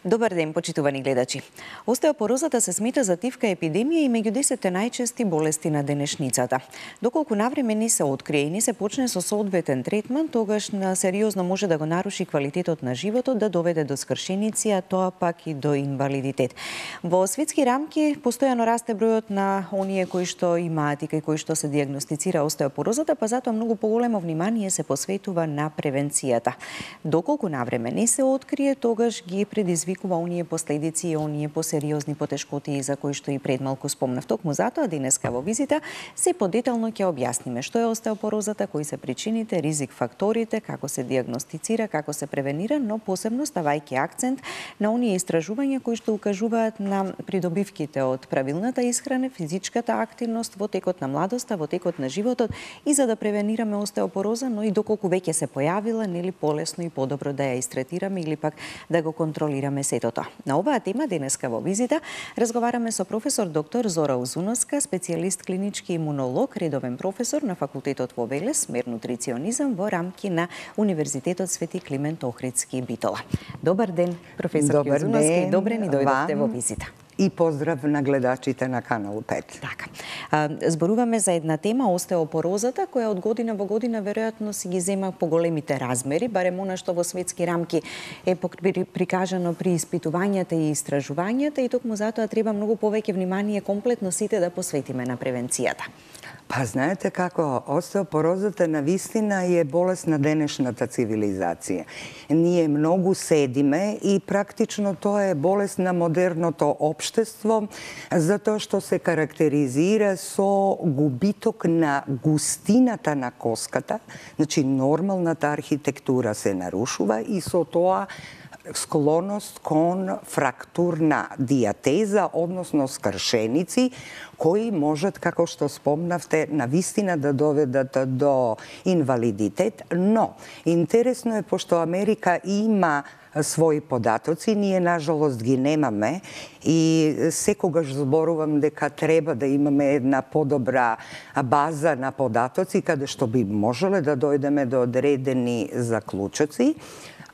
Добар ден, почитувани гледачи. Остеопорозата се смета за тивка епидемија и меѓу 10 најчести болести на денешницата. Доколку навреме не се открие и не се почне со соодветен третман, тогаш сериозно може да го наруши квалитетот на животот, да доведе до скршеници, а тоа пак и до инвалидитет. Во светски рамки постојано расте бројот на оние кои што имаат и кои што се дијагностицира остеопорозата, па затоа многу поголемо внимание се посветува на превенцијата. Доколку навреме не се открие, тогаш ги предизвикува оние последици и оние посериозни потешкоти за кои што и пред малку спомнав. Токму затоа денеска во визита се подетално ќе објасниме што е остеопорозата, кои се причините, ризик факторите, како се дијагностицира, како се превенира, но посебно ставајќи акцент на оние истражувања кои што укажуваат на придобивките од правилната исхрана, физичката активност во текот на младоста, во текот на животот и за да превенираме остеопороза, но и доколку веќе се појавила, нели полесно и подобро да ја истретираме или пак да го контролираме сето тоа. На оваа тема денеска во визита разговараме со професор доктор Зора Узуновска, специјалист клинички имунолог, редовен професор на факултетот во Велес, смер нутриционизам во рамки на Универзитетот Свети Климент Охридски Битола. Добар ден, професор Узуновска, и добре ни дојдовте во визита. И поздрав на гледачите на Канал 5. Така. Зборуваме за една тема, остеопорозата, која од година во година веројатно си ги зема поголемите размери, барем она што во светски рамки е прикажано при испитувањата и истражувањата, и токму затоа треба многу повеќе внимание комплетно сите да посветиме на превенцијата. Па знаете како, остеопорозата навистина е болест на денешната цивилизација. Ние многу седиме и практично тоа е болест на модерното општество, затоа што се карактеризира со губиток на густината на коската, значи нормалната архитектура се нарушува и со тоа склоност кон фрактурна диатеза, односно скршеници, кои можат, како што спомнавте, навистина да доведат до инвалидитет, но интересно е, пошто Америка има своји податоци, ние нажалост ги немаме и секогаш зборувам дека треба да имаме една подобра база на податоци каде што би можеле да дојдеме до одредени заклучоци.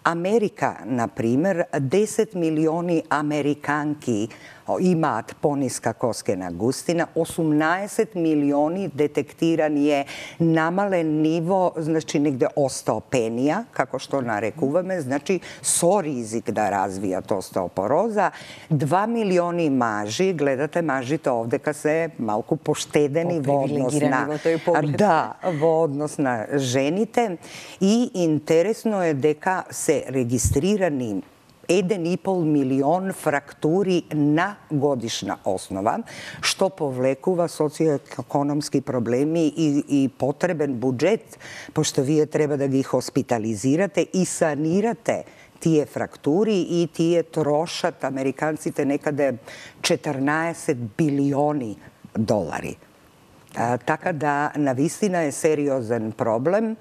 Америка, например, 10 милиони американки имаат пониска коскена густина, 18 милиони детектирани е намален ниво, значи негде остеопенија, како што нарекуваме, значи со ризик да развијат остеопороза, 2 милиони мажи, гледате мажите овдека се малку поштедени во однос на во однос на жените, и интересно е дека се регистрирани 1,5 милион фрактури на годишна основа, што повлекува социоекономски проблеми и потребен буџет, пошто вие треба да ги хоспитализирате и санирате тие фрактури, и тие трошат американците некаде 14 билиони долари. Така да, навистина е сериозен проблем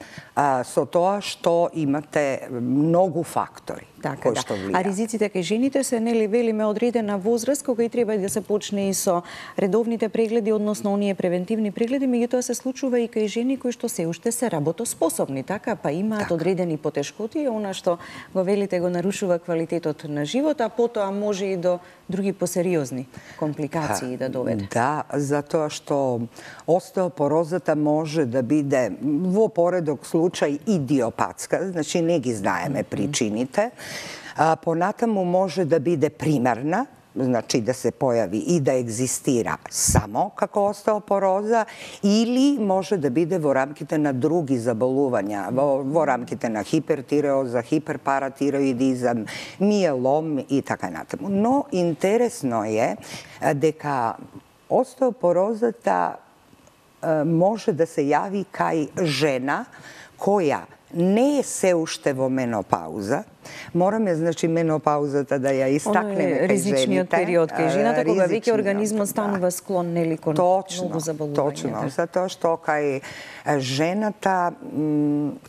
со тоа што имате многу фактори кои што влијаат. А ризиците кај жените се, нели, велиме одредена возраст кога и треба да се почне и со редовните прегледи, односно оние превентивни прегледи, меѓутоа се случува и кај жени кои што се уште се работоспособни, така, па имаат одредени потешкоти, она што го велите го нарушува квалитетот на живот, а потоа може и до други посериозни компликации да доведе. Да, затоа што остеопорозата може да биде во поредок случај идиопатска, значи не ги знаеме причините. Понатаму може да биде примерна, значи да се појави и да екзистира само како остеопороза, или може да биде во рамките на други заболувања, во рамките на хипертиреоза, хиперпаратироидизам, миелом и така натаму. Но интересно е дека остеопорозата може да се јави кај жена која не е се уште во менопауза. Мораме, значи, менопаузата да ја истакнеме кај жените. Ризичниот период кај жената, кога веќе организмот станува склон, нели, кон многу заболувања. Точно, затоа што кај жената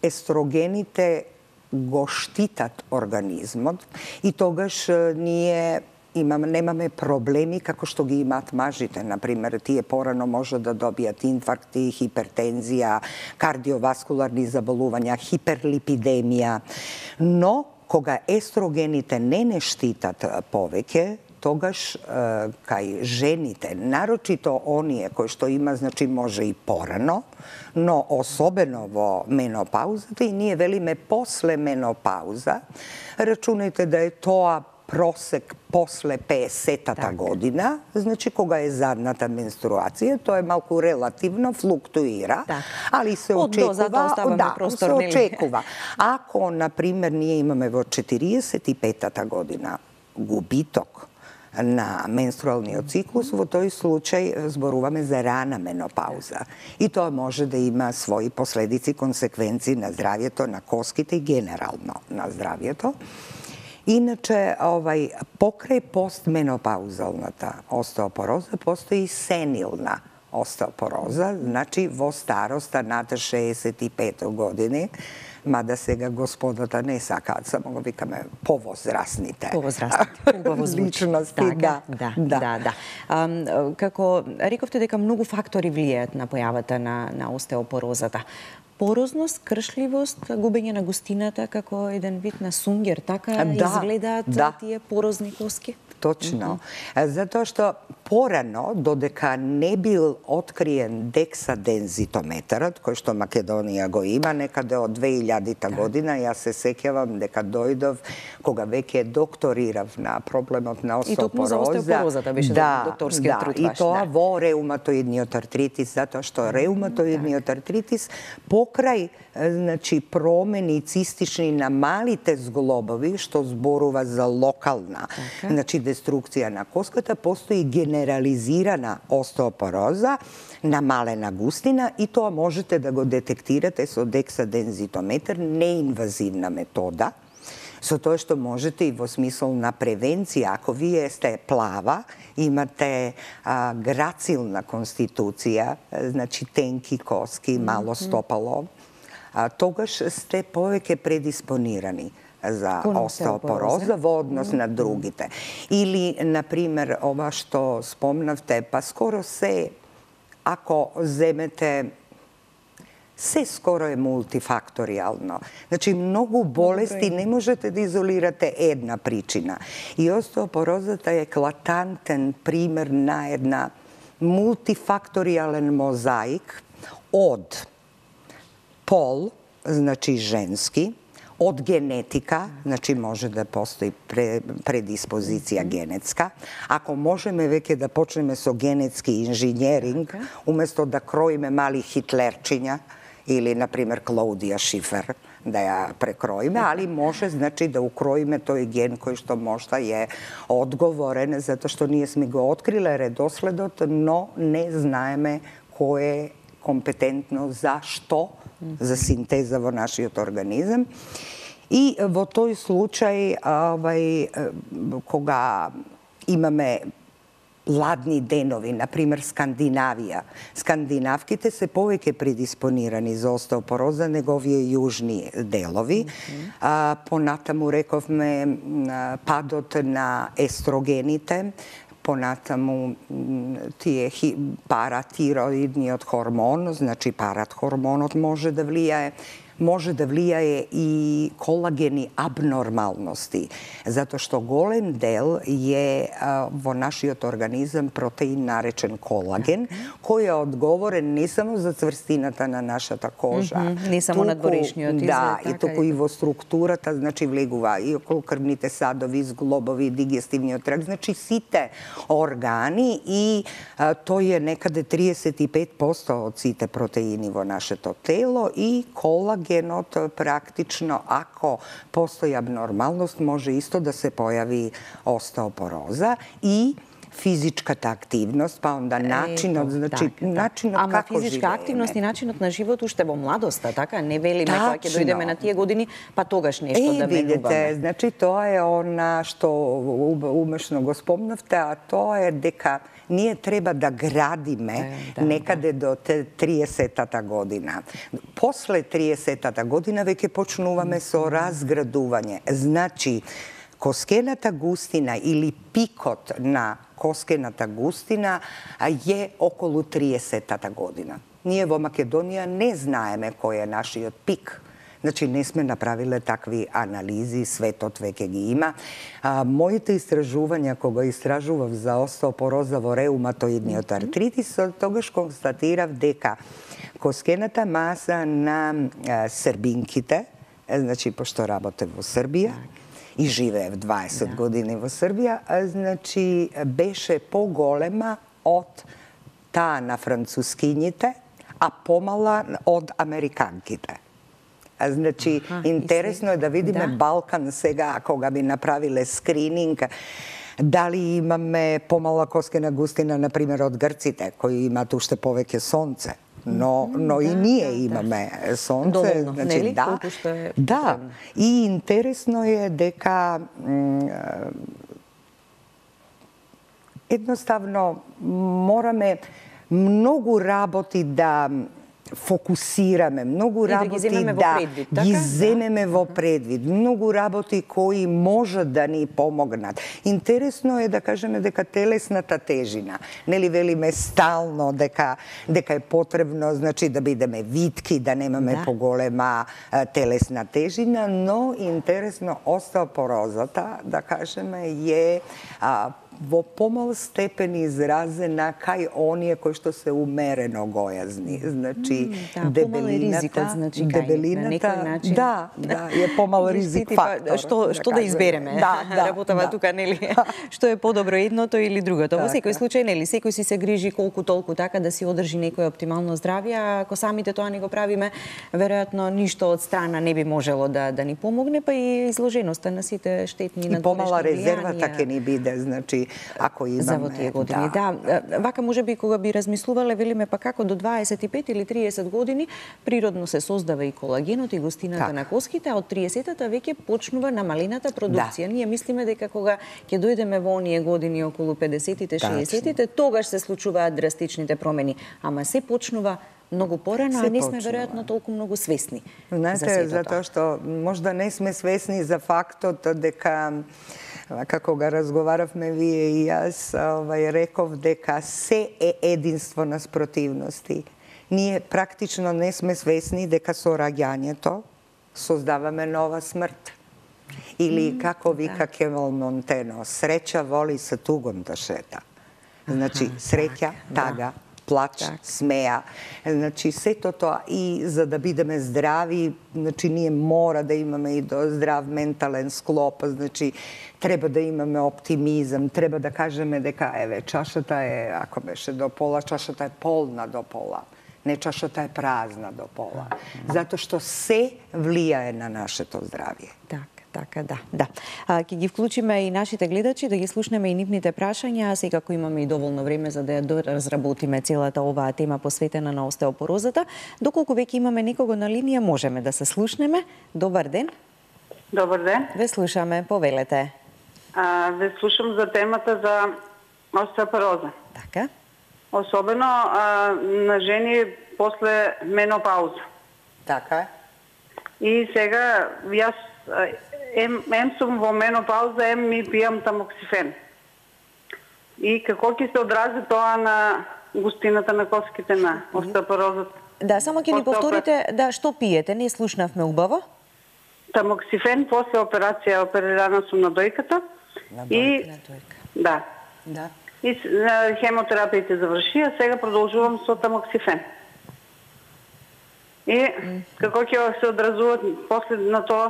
естрогените го штитат организмот и тогаш ние немаме проблеми како што ги имаат мажите. Например, тие порано може да добијат инфаркти, хипертензија, кардиоваскуларни заболувања, хиперлипидемија. Но Кога естрогените не штитат повеќе, тогаш кај жените, нарочито оние кои што има, значи може и порано, но особено во менопаузата, и ние велиме после менопауза, рачунајте да е тоа просек после 50-та година, значи кога е задната менструација, тоа е малку релативно, флуктуира, али се очекува. Ако, например, ние имаме во 45-та година губиток на менструалниот циклус, во тој случај зборуваме за рана менопауза. И тоа може да има своји последици, консеквенции на здравјето, на коските и генерално на здравјето. Иначе, покрај постменопаузалната остеопороза, постои сенилна остеопороза, значи во староста над 65 години, мада сега господата не сакаат, само го викаме повозрастните. Повозрастните, убаво звучи. Личности, да. Како рековте дека многу фактори влијаат на појавата на остеопорозата. Порозност, кршливост, губење на густината како еден вид на сунгер, така изгледаат тие порозни коски? Точно. Затоа што порано, додека не бил откриен дексадензитометарот, кој што Македонија го има некаде од 2000-та година, јас се сеќавам дека дојдов кога веќе докторирав на проблемот на остеопороза. И токму за остеопорозата беше докторскиот труд ваш. И тоа во реуматоидниот артритис, затоа што реуматоидниот артритис покрај промени цистични на малите зглобови, што зборува за локална, деструкција на коската, постои генерализирана остеопороза на малена густина и тоа можете да го детектирате со дексадензитометар, неинвазивна метода, со тоа што можете и во смисол на превенција, ако вие сте плава, имате грацилна конституција, значи тенки коски, мало стопало, тогаш сте повеќе предиспонирани за остеопороза во однос на другите. Или, например, ова што спомнавте, па скоро се, ако земете, се скоро е мултифакторијално. Значи, многу болести не можете да изолирате една причина. И остеопорозата е еклатантен пример на една мултифакторијален мозаик од пол, значи женски, од генетика, значи може да постои предиспозиција генетска. Ако можеме веќе да почнеме со генетски инженеринг, уместо да кроиме мали хитлерчиња, или, например, Клаудија Шифер, да ја прекроиме, али може, значи, да укроиме тој ген кој што можда е одговорен, затоа што ние сме го откриле редоследот, но не знаеме кој е компетентно за што, за синтеза во нашиот организам. И во тој случај, кога имаме ладни денови, например Скандинавија, скандинавките се повеќе предиспонирани за остеопороза него овие јужни делови. Понатаму рековме падот на естрогените, понатаму тие паратироидниот хормон, значи паратхормонот може да влијае и колагени абнормалности, затоа што голем дел е во нашиот организам протеин наречен колаген, кој е одговорен не само за цврстината на нашата кожа, не само на дворешниот изглед, и туку и во структурата, значи влегува и околу крвните садови, зглобови, дигестивниот тракт, значи сите органи, и тој е некаде 35% од сите протеини во нашето тело, и колагенот практично, ако постои абнормалност, може исто да се појави остеопороза. И физичката активност, па онда начинот, значи начинот како живееме. Ама физичка активност и начинот на живот уште во младоста, така? Не велиме кога ќе дојдеме на тие години, па тогаш нешто да менуваме. Видите, значи тоа е она што умешно го спомнавте, а тоа е дека ние треба да градиме некаде до 30-та година. После 30-та година веќе почнуваме со разградување. Значи, коскената густина или пикот на коскената густина е околу 30-та година. Ние во Македонија не знаеме кој е нашиот пик Значи, не сме направиле такви анализи, светот веќе ги има. Моите истражувања, кога истражував за остеопороза во реуматоидниот артритис, тогаш констатирав дека коскената маса на србинките, значи, пошто работев во Србија, и живеев 20 години во Србија, значи, беше поголема од таа на францускињите, а помала од американките. Значи, интересно е да видиме Балкан сега, кога би направиле скрининг, дали имаме помала коскена густина, например, од грците, кои имаат уште повеќе сонце. Но и ние имаме сонце. Доволно, значи, нели? Колку што е да. И интересно е дека едноставно мораме многу работи да фокусираме, многу работи да ги земеме во предвид, многу работи кои можат да ни помогнат. Интересно е да кажеме дека телесната тежина, нели велиме стално дека е потребно, значи да бидеме витки, да немаме поголема телесна тежина, но интересно остеопорозата, да кажеме, е во помал степен изразена кај оние кои што се умерено гојазни. Значи, дебелината, значи, дебелината, е помал ризик фактор. Што да избереме? Работава тука, нели? Што е подобро едното или другото? Во секој случај, нели, секој си се грижи колку толку така да си одржи некое оптимално здравје, а ако самите тоа не го правиме, веројатно ништо од страна не би можело да ни помогне, па и изложеноста на сите штетни надворешни влијанија. И помала резервата ќе ни биде, значи, ако имаме... За во тие години, Вака, може би, кога би размислувале, велиме, па како до 25 или 30 години природно се создава и колагенот и густината на коските, а од 30-та веќе почнува намалената продукција. Ние мислиме дека кога ќе дојдеме во оние години околу 50-тите, 60-тите, тогаш се случуваат драстичните промени. Ама се почнува многу порано, а не сме веројатно толку многу свесни. Знаете, затоа што можда не сме свесни за фактот дека како го разговаравме вие и јас, реков дека се е единство на спротивности. Ние практично не сме свесни дека со раѓањето создаваме нова смрт. Или, како вика Кемал Монтено, среќа воли се тугом да шета. Значи, среќа, тага, плач, смеја. Значи, сето тоа и за да бидеме здрави, значи, ние мора да имаме и здрав ментален склоп, значи, треба да имаме оптимизам, треба да кажеме дека, еве, чашата е, ако беше до пола, чашата е полна до пола. Не, чашата е празна до пола. Затоа што се влијае на нашето здравје. Така, да. Ќе ги вклучиме и нашите гледачи, да ги слушнеме и нивните прашања, секако имаме и доволно време за да ја разработиме целата оваа тема посветена на остеопорозата. Доколку веќе имаме некого на линија, можеме да се слушнеме. Добар ден. Добар ден. Ве слушаме, повелете. Ве слушам за темата за остеопороза. Така. Особено на жени после менопауза. Така. И сега јас ем сум во менопауза, ми пијам тамоксифен. И како ќе се одрази тоа на густината на коските на остеопорозата? Да, само ќе ни повторите, што пиете, не слушнавме убаво. Тамоксифен после операција, оперирана сум на дојката. И да. И хемотерапиите завршија, сега продолжувам со тамоксифен. И како ќе се одразуваат после на тоа?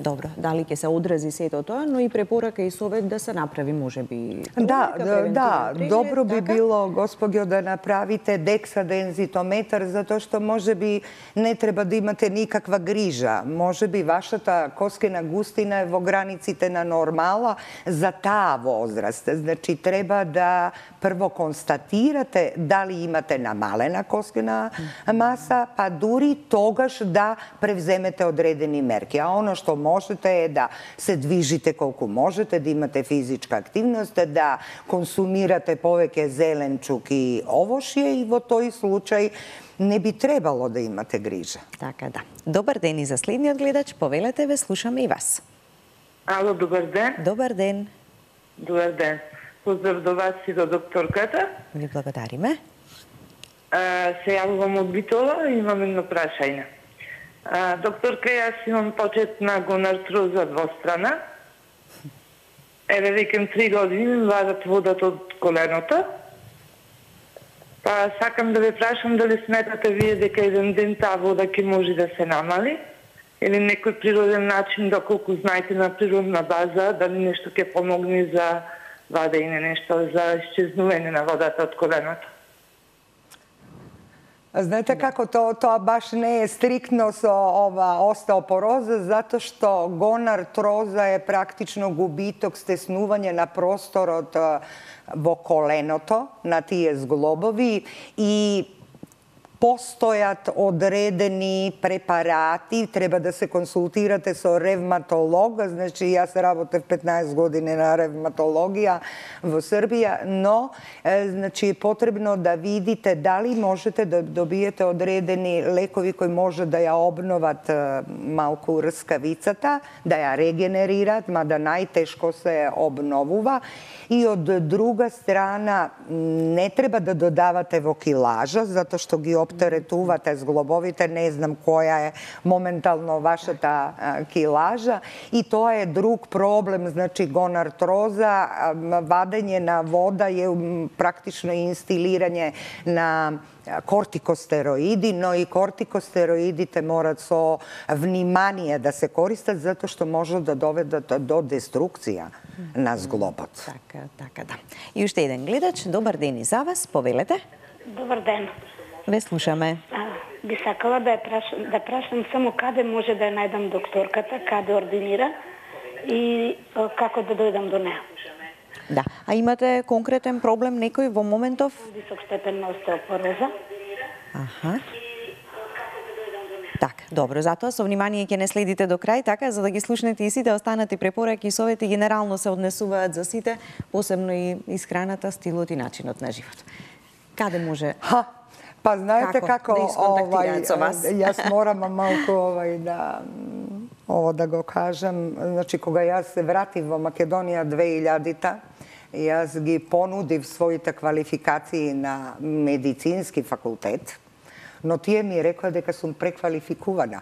Добро, дали ќе се одрази сето тоа, но и препорака и совет да се направи, можеби. Да, добро би било, господјо, да направите дексадензитометар, затоа што можеби не треба да имате никаква грижа. Можеби вашата коскена густина е во границите на нормала за таа возраст. Значи, треба да прво констатирате дали имате намалена коскена маса, па дури тогаш да превземете одредени мерки. А оно што можете е да се движите колку можете, да имате физичка активност, да консумирате повеќе зеленчук и овошје и во тој случај не би требало да имате грижа. Така, да. Добар ден и за следниот гледач, повелете, ве слушаме и вас. Ало, добар ден. Добар ден. Добар ден. Поздрав до вас и до докторката. Ви благодариме. Се јавувам од Битола и имам едно прашање. Докторка, јас имам почет на гонартроза двострана. Еве викам 3 години ми вадат водата од коленото. Па сакам да ве прашам дали сметате вие дека еден ден таа вода ќе може да се намали или некој природен начин, доколку знаете на природна база, дали нешто ќе помогне за вадење, нешто за исчезнување на водата од коленото. Знаете како тоа баш не е стриктно со ова остеопороза, затоа што гонартроза е практично губиток, стеснување на просторот во коленото, на тие зглобови и постојат одредени препарати, треба да се консултирате со ревматолог, значи јас работев 15 години на ревматологија во Србија, но значи е потребно да видите дали можете да добиете одредени лекови кои може да ја обноват малку рскавицата, да ја регенерираат, мада најтешко се обновува. И од друга страна не треба да додавате во килажа, затоа што ги оптеретувате зглобовите, не знам која е моментално вашата килажа, и тоа е друг проблем, значи гонартроза, вадење на вода е практично инстилирање на кортикостероиди, но и кортикостероидите морат со внимание да се користат, затоа што може да доведат до деструкција на зглобот. Така, да. И уште еден гледач, добар ден и за вас, повелете. Добар ден. Ве слушаме. Би сакала да прашам само каде може да ја најдам докторката, каде ординира и како да дојдам до неа. Да, а имате конкретен проблем некој во моментов? Висок степен на остеопороза. Така, добро, затоа со внимание ќе не следите до крај, така, за да ги слушнете и сите останати препораки и совети генерално се однесуваат за сите, посебно и исхраната, стилот и начинот на живот. Каде може? Па знаете како да исконтактираат со вас? Јас морам малку да го кажам. Значи, кога јас се вратив во Македонија 2000-та, јас ги понудив своите квалификации на медицински факултет, но тие ми рекоа дека сум преквалификувана.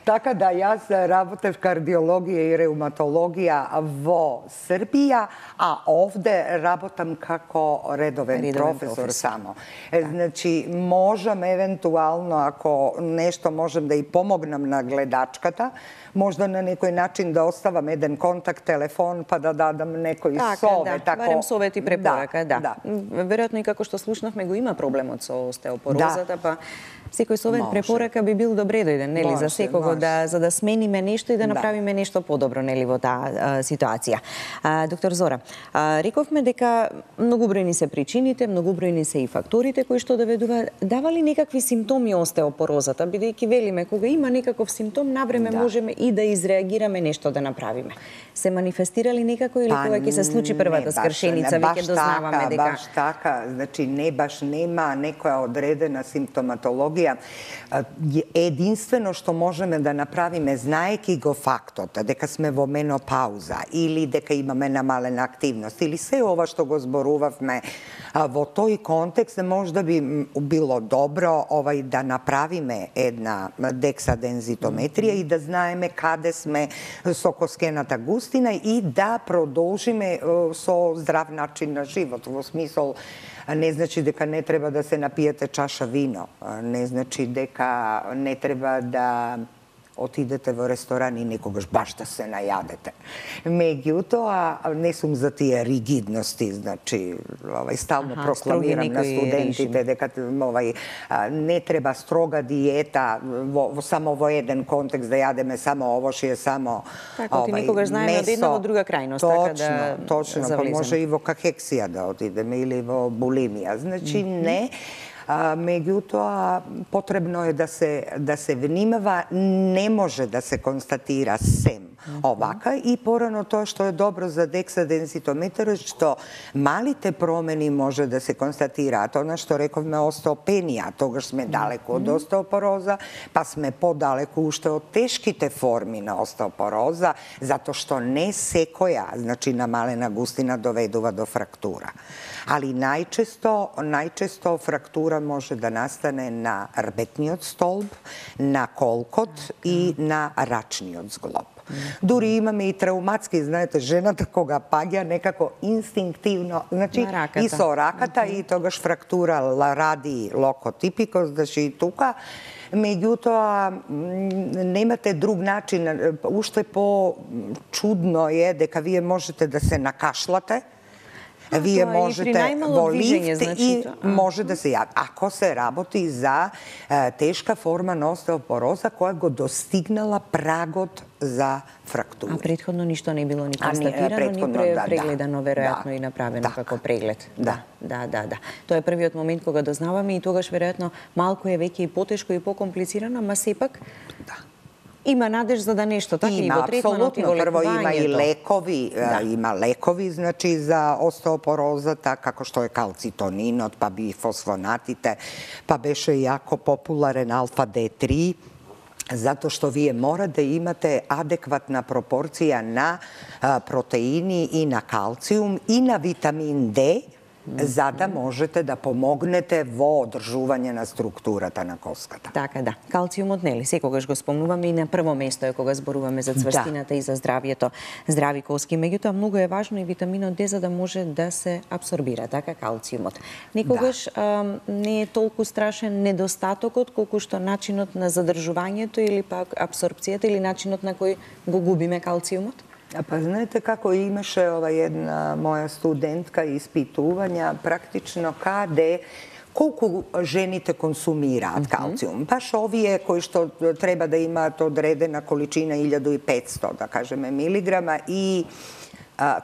Така да јас работев кардиологија и реуматологија во Србија, а овде работам како редовен професор само. Значи, можам евентуално, ако нешто можем да и помогнам на гледачката, можда на некој начин да оставам еден контакт телефон, па да дадам некој совет. Барем совет и препорака, да. Веројатно и како што слушнавме го има проблемот со остеопорозата, па секој совет препорака би бил добре дојден, нели, за секого за да смениме нешто и да направиме нешто подобро, нели, во таа ситуација. Доктор Зора, рековме дека многобројни се причините, многобројни се и факторите кои што доведуваат. Дава ли некакви симптоми остеопорозата, бидејќи велиме кога има некаков симптом, навреме можеме и да изреагираме, нешто да направиме. Се манифестирали некако или кога ќе се случи првата скршеница, веќе дознаваме дека баш така, значи не баш нема некоја одредена симптоматологија. Единствено што можеме да направиме, знаеки го фактот дека сме во менопауза или дека имаме намалена активност или се ова што го зборувавме во тој контекст, можда би било добро да направиме една дексадензитометрија и да знаеме каде сме со коскената густина и да продолжиме со здрав начин на живот, во смисол не значи дека не треба да се напиете чаша вино, не значи дека не треба да отидете во ресторан и некогаш баш да се најадете. Меѓутоа, не сум за тие ригидности, значи, стално прокламирам на студентите дека не треба строга диета само во еден контекст да јадеме само овошје, само така, некогаш знаеме од една во друга крајност, така да точно, па може и во кахексија да отидеме или во булимија. Значи, не. Меѓутоа, потребно е да се внимава, не може да се констатира сем Овака и порано тоа што е добро за дексадензитометар што малите промени може да се констатираат. Она што рековме остеопенија, тогаш сме далеку од остеопороза, па сме подалеку уште од тешките форми на остеопороза, затоа што не секоја, значи намалена густина доведува до фрактура. Али најчесто фрактура може да настане на рбетниот столб, на колкот и на рачниот зглоб. Дури имаме и травматски, знаете, жената кога паѓа некако инстинктивно, значи и со раката и тогаш фрактура ради локотипикос, значи и тука. Меѓутоа, немате друг начин, уште по-чудно е дека вие можете да се накашлате, вие можете во лифт и може да се јави. Ако се работи за тешка форма на остеопороза која го достигнала прагот за фрактура. А претходно ништо не било ни констатирано, ни прегледано, веројатно и направено како преглед. Да. Тоа е првиот момент кога дознаваме и тогаш веројатно малку е веќе и потешко и покомплицирано, ама сепак има надеж за да нешто така и во третманот и во лекувањето. Прво има и лекови, има лекови значи за остеопорозата, како што е калцитонинот, па бифосфонатите, па беше јако популарен алфа D3, затоа што вие мора да имате адекватна пропорција на протеини и на калциум и на витамин D, за да можете да помогнете во одржување на структурата на коската. Така да. Калциумот нели секогаш го спомнуваме и на прво место е кога зборуваме за цврстината и за здравието, здрави коски. Меѓутоа многу е важно и витаминот D за да може да се абсорбира така калциумот. Некогаш не е толку страшен недостатокот колку што начинот на задржувањето или пак абсорбцијата или начинот на кој го губиме калциумот? Па знаете како имаше една моја студентка испитувања практично каде колку жените консумираат калциум. Баш овие кои што треба да имаат одредена количина 1500, да кажеме, милиграма и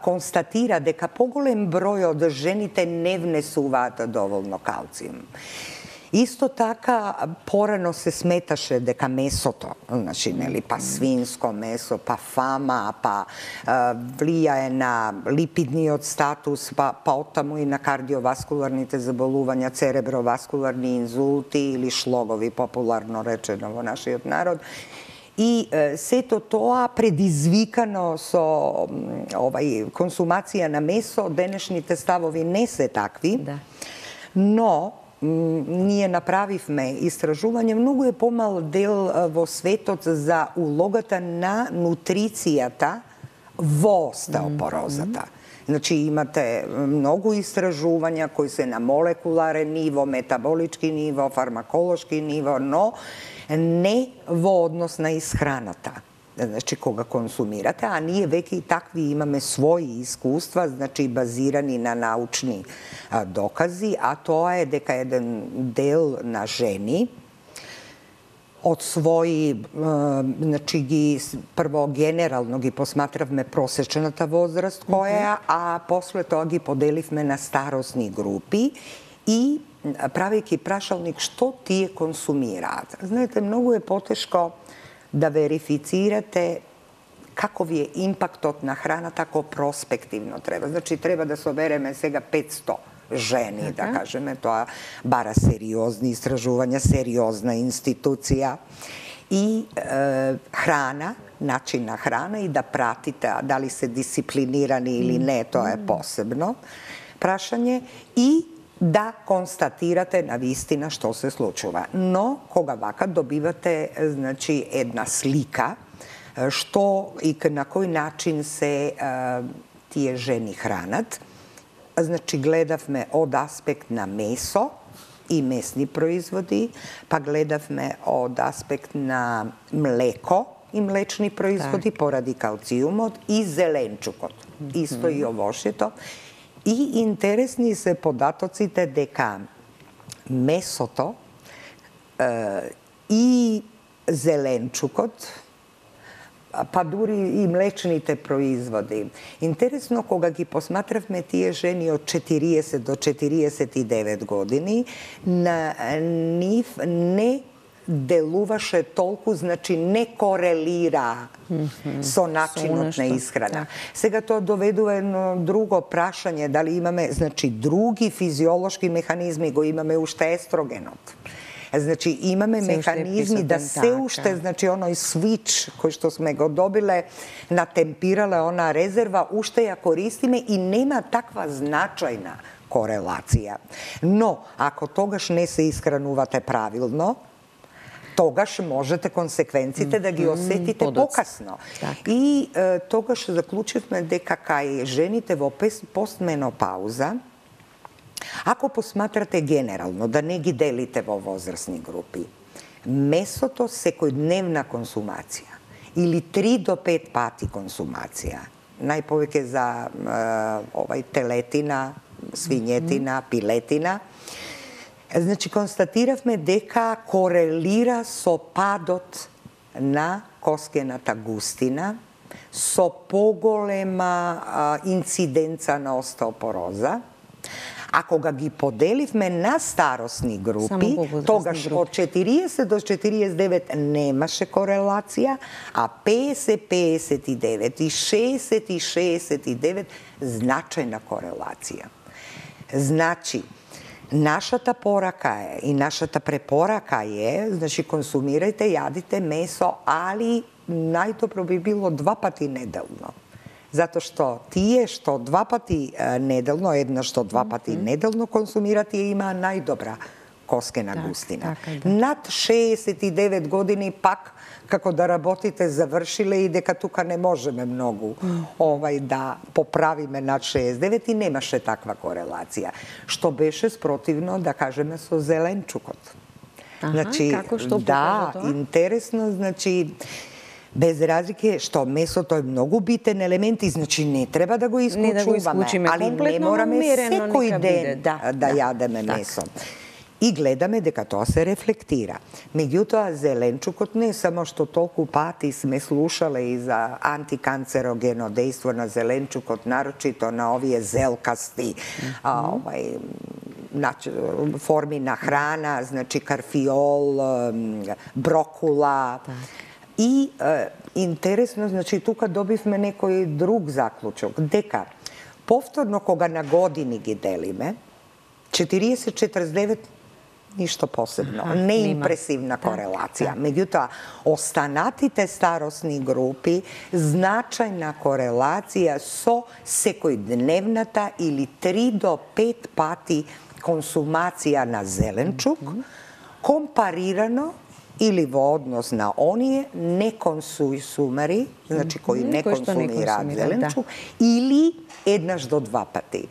констатира дека поголем број од жените не внесуваат доволно калциум. Исто така, порано се сметаше дека месото, значи, нели, па свинско месо, па фама, па влијае на липидниот статус, па оттаму и на кардиоваскуларните заболувања, цереброваскуларни инзулти или шлогови, популарно речено во нашиот народ. И сето тоа предизвикано со консумација на месо, денешните ставови не се такви, но ние направивме истражување, многу е помал дел во светот за улогата на нутрицијата во остеопорозата. Значи имате многу истражувања кои се на молекуларен ниво, метаболички ниво, фармаколошки ниво, но не во однос на исхраната. Значи, кога консумирате, а ние веќе и такви имаме своји искуства, значи базирани на научни докази, а тоа е дека еден дел на жени од своји, значи ги прво генерално ги посматравме просечната возраст која, а после тоа ги поделивме на старосни групи и правејќи прашалник што тие консумираат. Знаете, многу е потешко да верифицирате каков е импактот на храната ако проспективно треба. Значи, треба да собереме сега 500 жени, да кажеме, тоа бара сериозни истражувања, сериозна институција и храна, начин на храна и да пратите дали се дисциплинирани или не, тоа е посебно прашање и да констатирате на вистина што се случува. Но, кога вака добивате, значи, една слика, што и на кој начин се тие жени хранат, значи, гледавме од аспект на месо и месни производи, па гледавме од аспект на млеко и млечни производи поради калциумот и зеленчукот, исто и овошјето. И интересни се податоците дека месото и зеленчукот, па дури и млечните производи. Интересно, кога ги посматравме тие жени од 40 до 49 години, на нив не делуваше толку, значи не корелира со начинот на исхрана. Сега тоа доведува едно друго прашање, дали имаме, значи, други физиолошки механизми, го имаме уште естрогенот. Значи, имаме механизми да се уште, значи, оној свич кој што сме го добиле на темпирале, она резерва, уште ја користиме и нема таква значајна корелација. Но, ако тогаш не се исхранувате правилно, тогаш можете консеквенците да ги осетите покасно. И тогаш заклучивме дека кај жените во постменопауза, ако посматрате генерално, да не ги делите во возрастни групи, месото секојдневна консумација или 3 до 5 пати консумација, најповеќе за телетина, свињетина, пилетина, значи констатиравме дека корелира со падот на коскената густина, со поголема инциденца на остеопороза. А кога ги поделивме на старосни групи, тогаш од 40 до 49 немаше корелација, а 50, 59 и 60 и 69 значајна корелација. Значи, нашата порака е и нашата препорака е, значи консумирајте, јадите месо, али најдобро би било 2 пати неделно. Затоа што тие што 2 пати неделно, еднаш што 2 пати неделно консумират, тие имаа најдобра коскена густина. Над 69 години пак, како да работите, завршиле и дека тука не можеме многу да поправиме над 69 и немаше таква корелација. Што беше спротивно, да кажеме, со зеленчукот. Значи, да, интересно, значи, без разлike што месото е многу битен елемент и значи не треба да го исклучуваме, али не мораме секој ден да јадеме месо. И гледаме дека тоа се рефлектира. Меѓутоа, зеленчукот не само што толку пати сме слушале и за антиканцерогено дејство на зеленчукот, нарочито на овие зелкасти форми на храна, значи карфиол, брокула. И интересно, значи, тука добивме некој друг заклучок, дека повторно кога на години ги делиме, 40-49 ништо посебно, неимпресивна корелација. Меѓутоа, останатите старосни групи, значајна корелација со секојдневната или 3 до 5 пати консумација на зеленчук, компарирано или во однос на оние неконсумери, значи кои не консумираат зеленчук, или еднаш до 2 пати.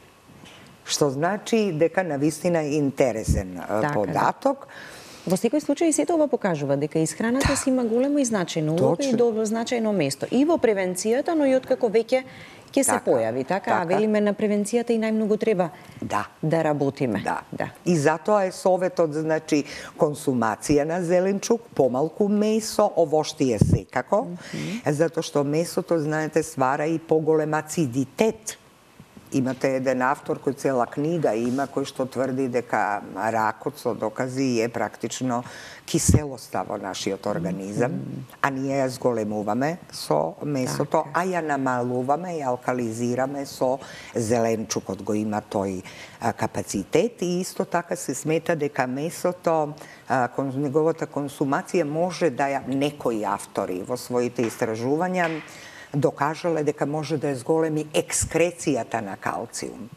Што значи дека навистина е интересен податок. Во секој случај сето ова покажува дека исхраната си има голема и значајна улога и добро значајно место. И во превенцијата, но и откако веќе ќе се појави, така? А велиме на превенцијата и најмногу треба да работиме. Да. И затоа е советот, значи, консумација на зеленчук, помалку месо, овоштие секако, затоа што месото, знаете, свара и поголем ацидитет. Имате еден автор кој цела книга има, кој што тврди дека ракот со докази е практично киселоста во нашиот организам, а ние ја зголемуваме со месото, а ја намалуваме и алкализираме со зеленчукот, го има тој капацитет и исто така се смета дека месото, неговата консумација може да ја некои автори во своите истражувања докажале дека може да зголеми екскрецијата на калциум.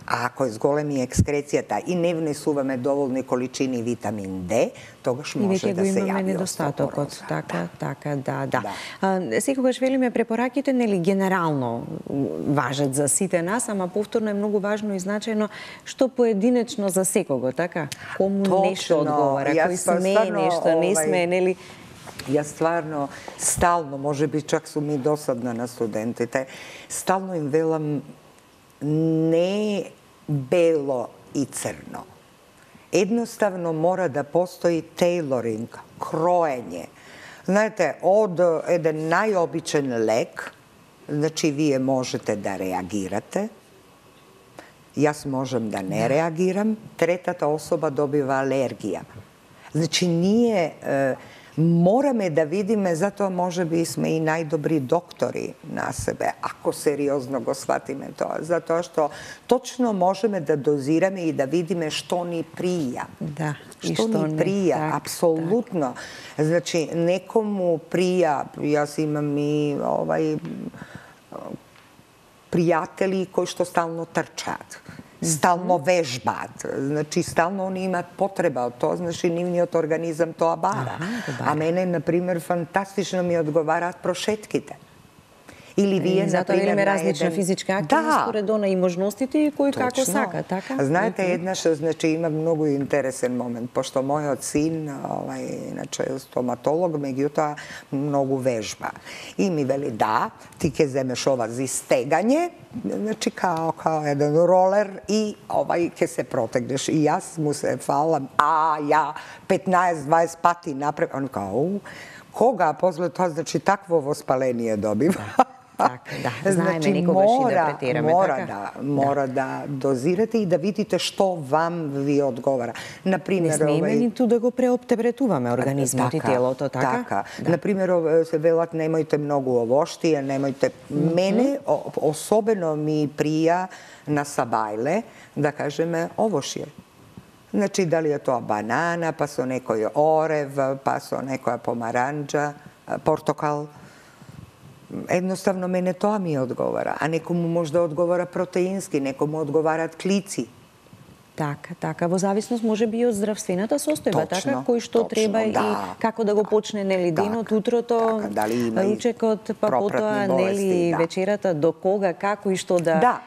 А ако зголеми екскрецијата и не внесуваме доволни количини витамин Д, тогаш може да се јави недостатокот. Да. Секогаш велиме препораките, нели, генерално важат за сите нас, ама повторно е многу важно и значајно што поединечно за секого, така? Кому нешто одговара, кој сме, нешто не сме, нели? Јас стварно, стално, може би чак сум и досадна на студентите, стално им велам не бело и црно. Едноставно мора да постои тейлоринг, кроење. Знаете, од еден најобичен лек, значи вие можете да реагирате, јас можем да не реагирам, третата особа добива алергија. Значи, ние morаме да видиме, затоа може би сме и најдобри доктори на себе, ако сериозно го сватиме тоа, затоа што точно можеме да дозираме и да видиме што ни прија. Да, што ни прија, апсолутно. Значи, некому прија, јас имам и пријатели кои што стално трчаат, стално вежбаат, значи стално они имаат потреба од тоа, значи нивниот организам тоа бара. А мене, например, фантастично ми одговараат прошетките. Или вие, например, имаме различна физичка активност, според она и можностите и кој како сака, така? Знаете, еднаш, значи, има многу интересен момент, пошто мојот син, иначе стоматолог, меѓутоа многу вежба. И ми вели, да, ти ќе земеш ова за истегање, значи као еден ролер и ќе се протегнеш. И јас му се фалам, ја 15-20 пати напред, он као, кога после тоа, значи, такво воспаление добива. Така, да, знаеме никогаш и да претераме. Мора да дозирате и да видите што вам ви одговара. Например, не смееме ниту да го преоптеретуваме организмот и телото, така? Така. Например, се велат немојте многу овоштија, немојте... Мене особено ми прија на сабајле, да кажеме, овошје. Значи, дали е тоа банана, па со некој орев, па со некоја помаранџа, портокал. Едноставно мене тоа ми одговара, а некому може да одговара протеински, некому одговараат клици. Така, во зависност може би и од здравствената состојба, така, кој што треба и како да го почне, нели, денот, утрото, ручекот, па потоа, нели, вечерата, до кога, како и што да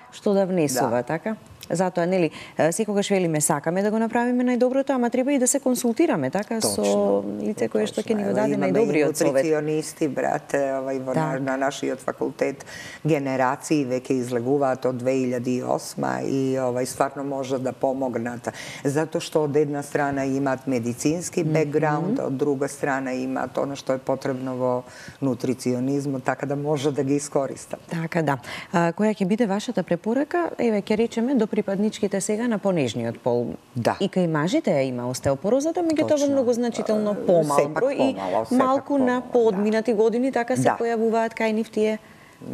внесува, така? Затоа, нели, секогаш велиме сакаме да го направиме најдоброто, ама треба и да се консултираме, така, со лице кое што ќе ни го даде најдобриот совет. Имаме нутриционисти, брате, на нашиот факултет, генерации веќе излегуваат од 2008 и стварно може да помогнат. Затоа што од една страна имаат медицински бекграунд, од друга страна имаат оно што е потребно во нутриционизмот, така да може да ги искористат. Така, да. Која ќе биде вашата препорака? Еве, ќе речеме, до припадничките сега на понежниот пол. Да. И кај мажите ја има остеопорозата, меѓутоа многу значително помал број и малку на поодминати години така се појавуваат кај нив тие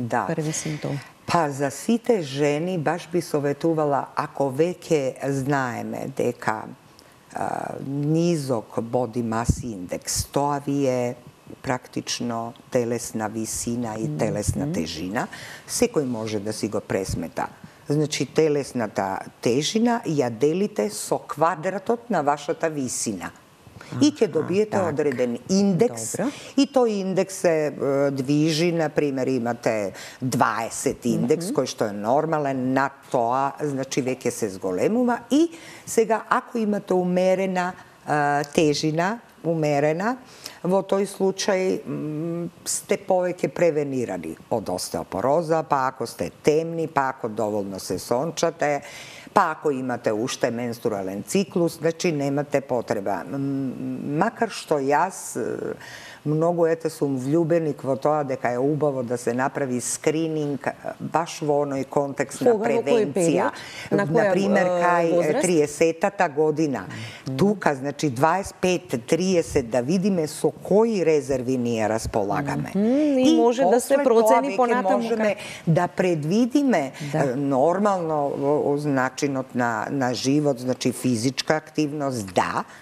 први симптоми. Па за сите жени баш би советувала, ако веќе знаеме дека низок body mass index, тоа ви е практично телесна висина и телесна тежина, секој може да си го пресмета. Значи, телесната тежина ја делите со квадратот на вашата висина. И ќе добиете одреден индекс. И тој индекс се движи, например, имате 20 индекс, кој што е нормален, над тоа, значи, веќе се зголемува. И сега, ако имате умерена тежина, во тој случај сте повеќе превенирани од остеопороза, па ако сте темни, па ако доволно се сончате, па ако имате уште менструален циклус, значи немате потреба. Макар што јас многу сум влюбеник во тоа дека е убаво да се направи скрининг баш во оној контекст на превенција. Например, кај 30-та година. Тука, значи 25-30, да видиме со кои резерви ние располагаме. И може да се процени понатаму. Можеме да предвидиме нормално начинот на живот, значи физичка активност,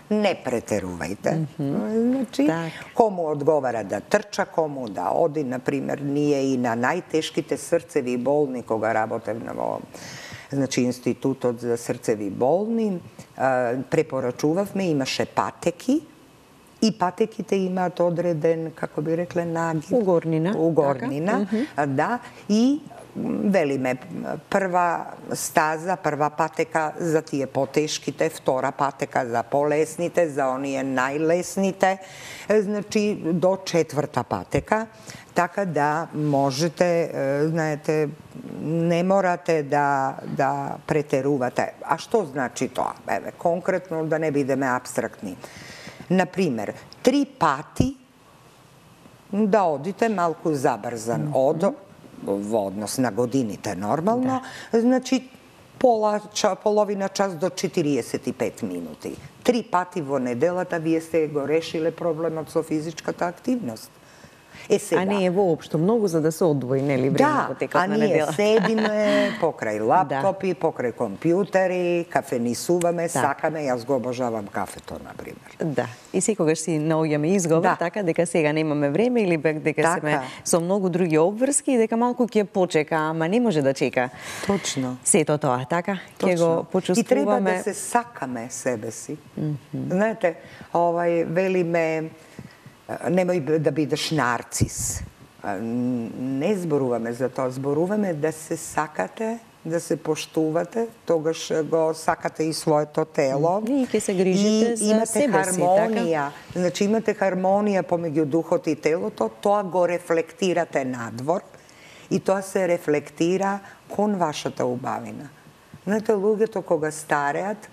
не претерувајте. Значи, кому одговара да трча, кому да оди, например, ние и на најтешките срцеви болни, кога работевме во Институтот за срцеви болни, препорачувавме, имаше патеки, и патеките имаат одреден, како би рекле, нагиб. Угорнина, да, и велиме, прва стаза, прва патека за тие потешките, втора патека за полесните, за оние најлесните, значи до четврта патека, така да можете, знаете, не морате да претерувате. А што значи тоа? Еве, конкретно да не бидеме апстрактни. Например, 3 пати да одите малку забрзан во однос на годините нормално, значи половина час до 45 минути. 3 пати во неделата вие сте го решиле проблемот со физичката активност. Сега. А не е воопшто многу за да се одвои, нели, време во текот на недела. А ние седиме покрај лаптопи, покрај компјутери, кафенисуваме, сакаме, јас го обожавам кафето, например. Да, и секогаш си наоѓаме изговор, така, дека сега немаме време или дека сме со многу други обврски и дека малку ќе почека, ама не може да чека. Точно. Сето тоа, така, ќе го почувствуваме. И треба да се сакаме себе си. Знаете, велиме, немој да бидеш нарцис. Не зборуваме за тоа, зборуваме да се сакате, да се поштувате, тогаш го сакате и своето тело. И ќе се грижите за себе си, хармонија. Значи имате хармонија помеѓу духот и телото, тоа го рефлектирате надвор и тоа се рефлектира кон вашата убавина. Знаете, луѓето кога стареат,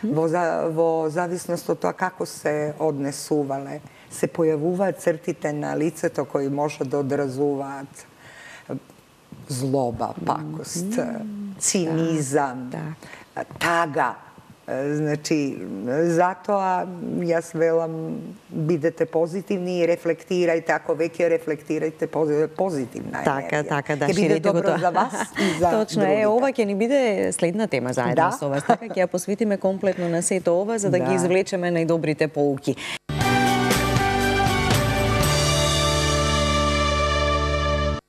во зависност од тоа како се однесувале, се појавуваат цртите на лицето кои може да одразуваат злоба, пакост, цинизам, тага. Значи, затоа јас велам бидете позитивни и рефлектирајте, ако веќе рефлектирајте позитивна енергија. Така, да, ќе биде добро за вас и за Точно, другите. ова ќе ни биде следна тема заедно со вас. Така ќе ја посветиме комплетно на сето ова, за да ги извлечеме најдобрите поуки.